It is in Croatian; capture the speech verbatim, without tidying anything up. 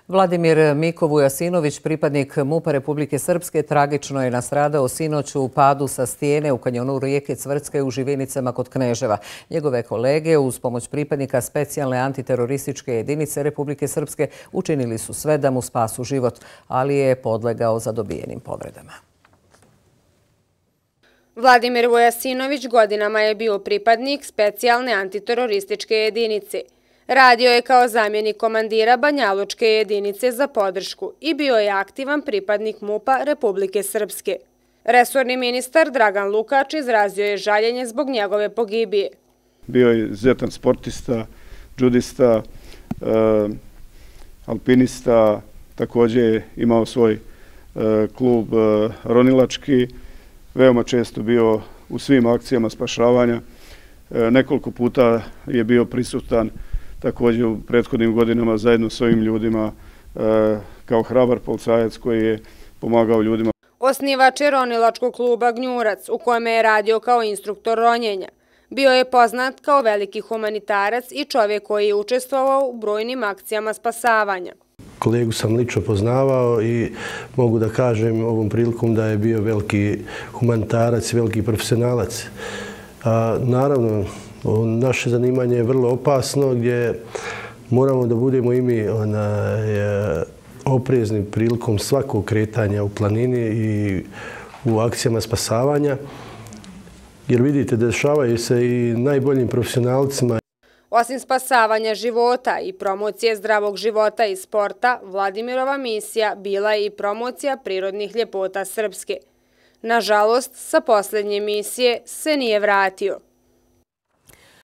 Vladimir Miko Vujasinović, pripadnik MUP-a Republike Srpske, tragično je nastradao sinoć u padu sa stijene u kanjonu rijeke Cvrtske u Živinicama kod Kneževa. Njegove kolege uz pomoć pripadnika specijalne antiterorističke jedinice Republike Srpske učinili su sve da mu spasu život, ali je podlegao zadobijenim povredama. Vladimir Vujasinović godinama je bio pripadnik specijalne antiterorističke jedinice. Radio je kao zamjenik komandira Banjalučke jedinice za podršku i bio je aktivan pripadnik MUP-a Republike Srpske. Resorni ministar Dragan Lukač izrazio je žaljenje zbog njegove pogibije. Bio je izuzetan sportista, džudista, alpinista, također je imao svoj klub ronilački, veoma često bio u svim akcijama spašavanja. Nekoliko puta je bio prisutan također u prethodnim godinama zajedno s ovim ljudima kao hrabar policajac koji je pomagao ljudima. Osnivač je ronilačkog kluba Gnjurac, u kojem je radio kao instruktor ronjenja. Bio je poznat kao veliki humanitarac i čovjek koji je učestvovao u brojnim akcijama spasavanja. Kolegu sam lično poznavao i mogu da kažem ovom prilikom da je bio veliki humanitarac i veliki profesionalac. A, naravno, naše zanimanje je vrlo opasno gdje moramo da budemo i mi onaj, oprezni prilikom svakog kretanja u planini i u akcijama spasavanja. Jer vidite, dešavaju se i najboljim profesionalcima. Osim spasavanja života i promocije zdravog života i sporta, Vladimirova misija bila je i promocija prirodnih ljepota Srpske. Nažalost, sa posljednje misije se nije vratio.